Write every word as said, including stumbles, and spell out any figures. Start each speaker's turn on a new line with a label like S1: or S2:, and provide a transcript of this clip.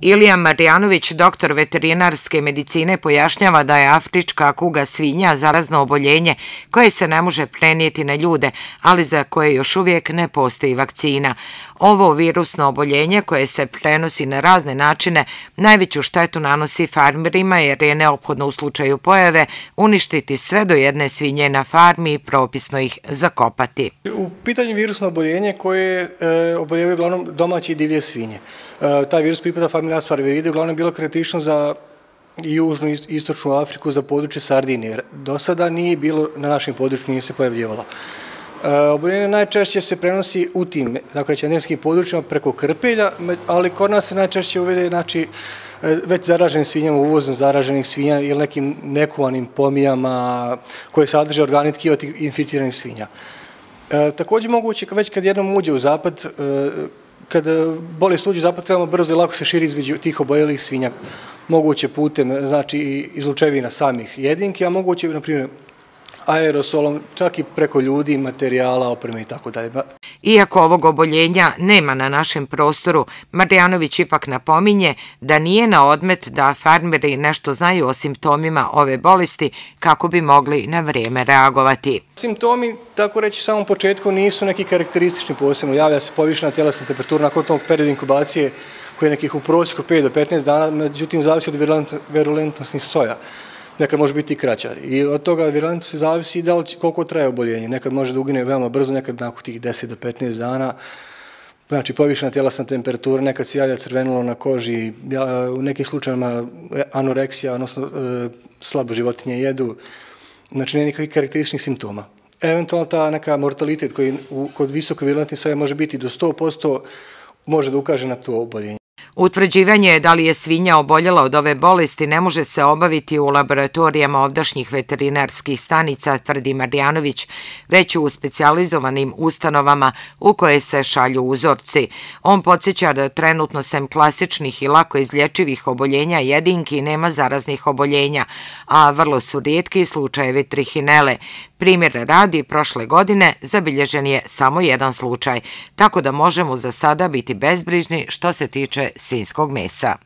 S1: Ilija Marjanović, doktor veterinarske medicine, pojašnjava da je afrička kuga svinja zarazno oboljenje koje se ne može prenijeti na ljude, ali za koje još uvijek ne postoji vakcina. Ovo virusno oboljenje koje se prenosi na razne načine najveću štetu nanosi farmerima jer je neophodno u slučaju pojave uništiti sve do jedne svinje na farmi i propisno ih zakopati.
S2: U pitanju virusno oboljenje koje e, oboljevaju uglavnom domaće i divlje svinje. E, taj virus pripada familiji Asfarviridae, uglavnom je bilo karakteristično za južnu i istočnu Afriku, za područje Sardinije. Do sada nije bilo na našem području, nije se pojavljivalo. E, oboljenje najčešće se prenosi u tim, dakle, endemskim područjima preko krpelja, ali kod nas se najčešće uvede, znači, već zaraženim svinjama, uvozom zaraženih svinja ili nekim nekuvanim pomijama koje sadrže organi tkiva tih inficiranih svinja. E, također moguće, već kad jednom uđe u zapad, e, kada bolest uđe u zapad, veoma brzo i lako se širi između tih oboljelih svinja. Moguće putem, znači, izlučevina samih jedinki, a moguće, na primjer, aerosolom, čak i preko ljudi, materijala, opreme i tako dalje.
S1: Iako ovog oboljenja nema na našem prostoru, Marjanović ipak napominje da nije na odmet da farmeri nešto znaju o simptomima ove bolesti kako bi mogli na vrijeme reagovati.
S2: Simptomi, tako reći, u samom početku nisu neki karakteristični posebno. Javlja se povišena tjelesna temperatura nakon tog perioda inkubacije koji je nekih u prosjeku pet do petnaest dana, međutim zavisi od virulentnosti soja. Nekad može biti i kraća. I od toga virulentnosti zavisi da li koliko traje oboljenje. Nekad može da ugine veoma brzo, nekad nakon tih deset do petnaest dana. Znači, povišena tjelesna temperatura, nekad se javlja crvenulo na koži, u nekim slučajima anoreksija, odnosno slabo životinje jedu. Znači, nema nikakvih karakterističnih simptoma. Eventualno ta neka mortalitet koji kod visoko virulentnih soja može biti do sto posto može da ukaže na to oboljenje.
S1: Utvrđivanje da li je svinja oboljela od ove bolesti ne može se obaviti u laboratorijama ovdašnjih veterinarskih stanica, tvrdi Marjanović, već u specijalizovanim ustanovama u koje se šalju uzorci. On podsjeća da trenutno sem klasičnih i lako izlječivih oboljenja jedinki nema zaraznih oboljenja, a vrlo su rijetki slučajevi trihinele. Primjer radi, prošle godine zabilježen je samo jedan slučaj, tako da možemo za sada biti bezbrižni što se tiče svinjskog mesa.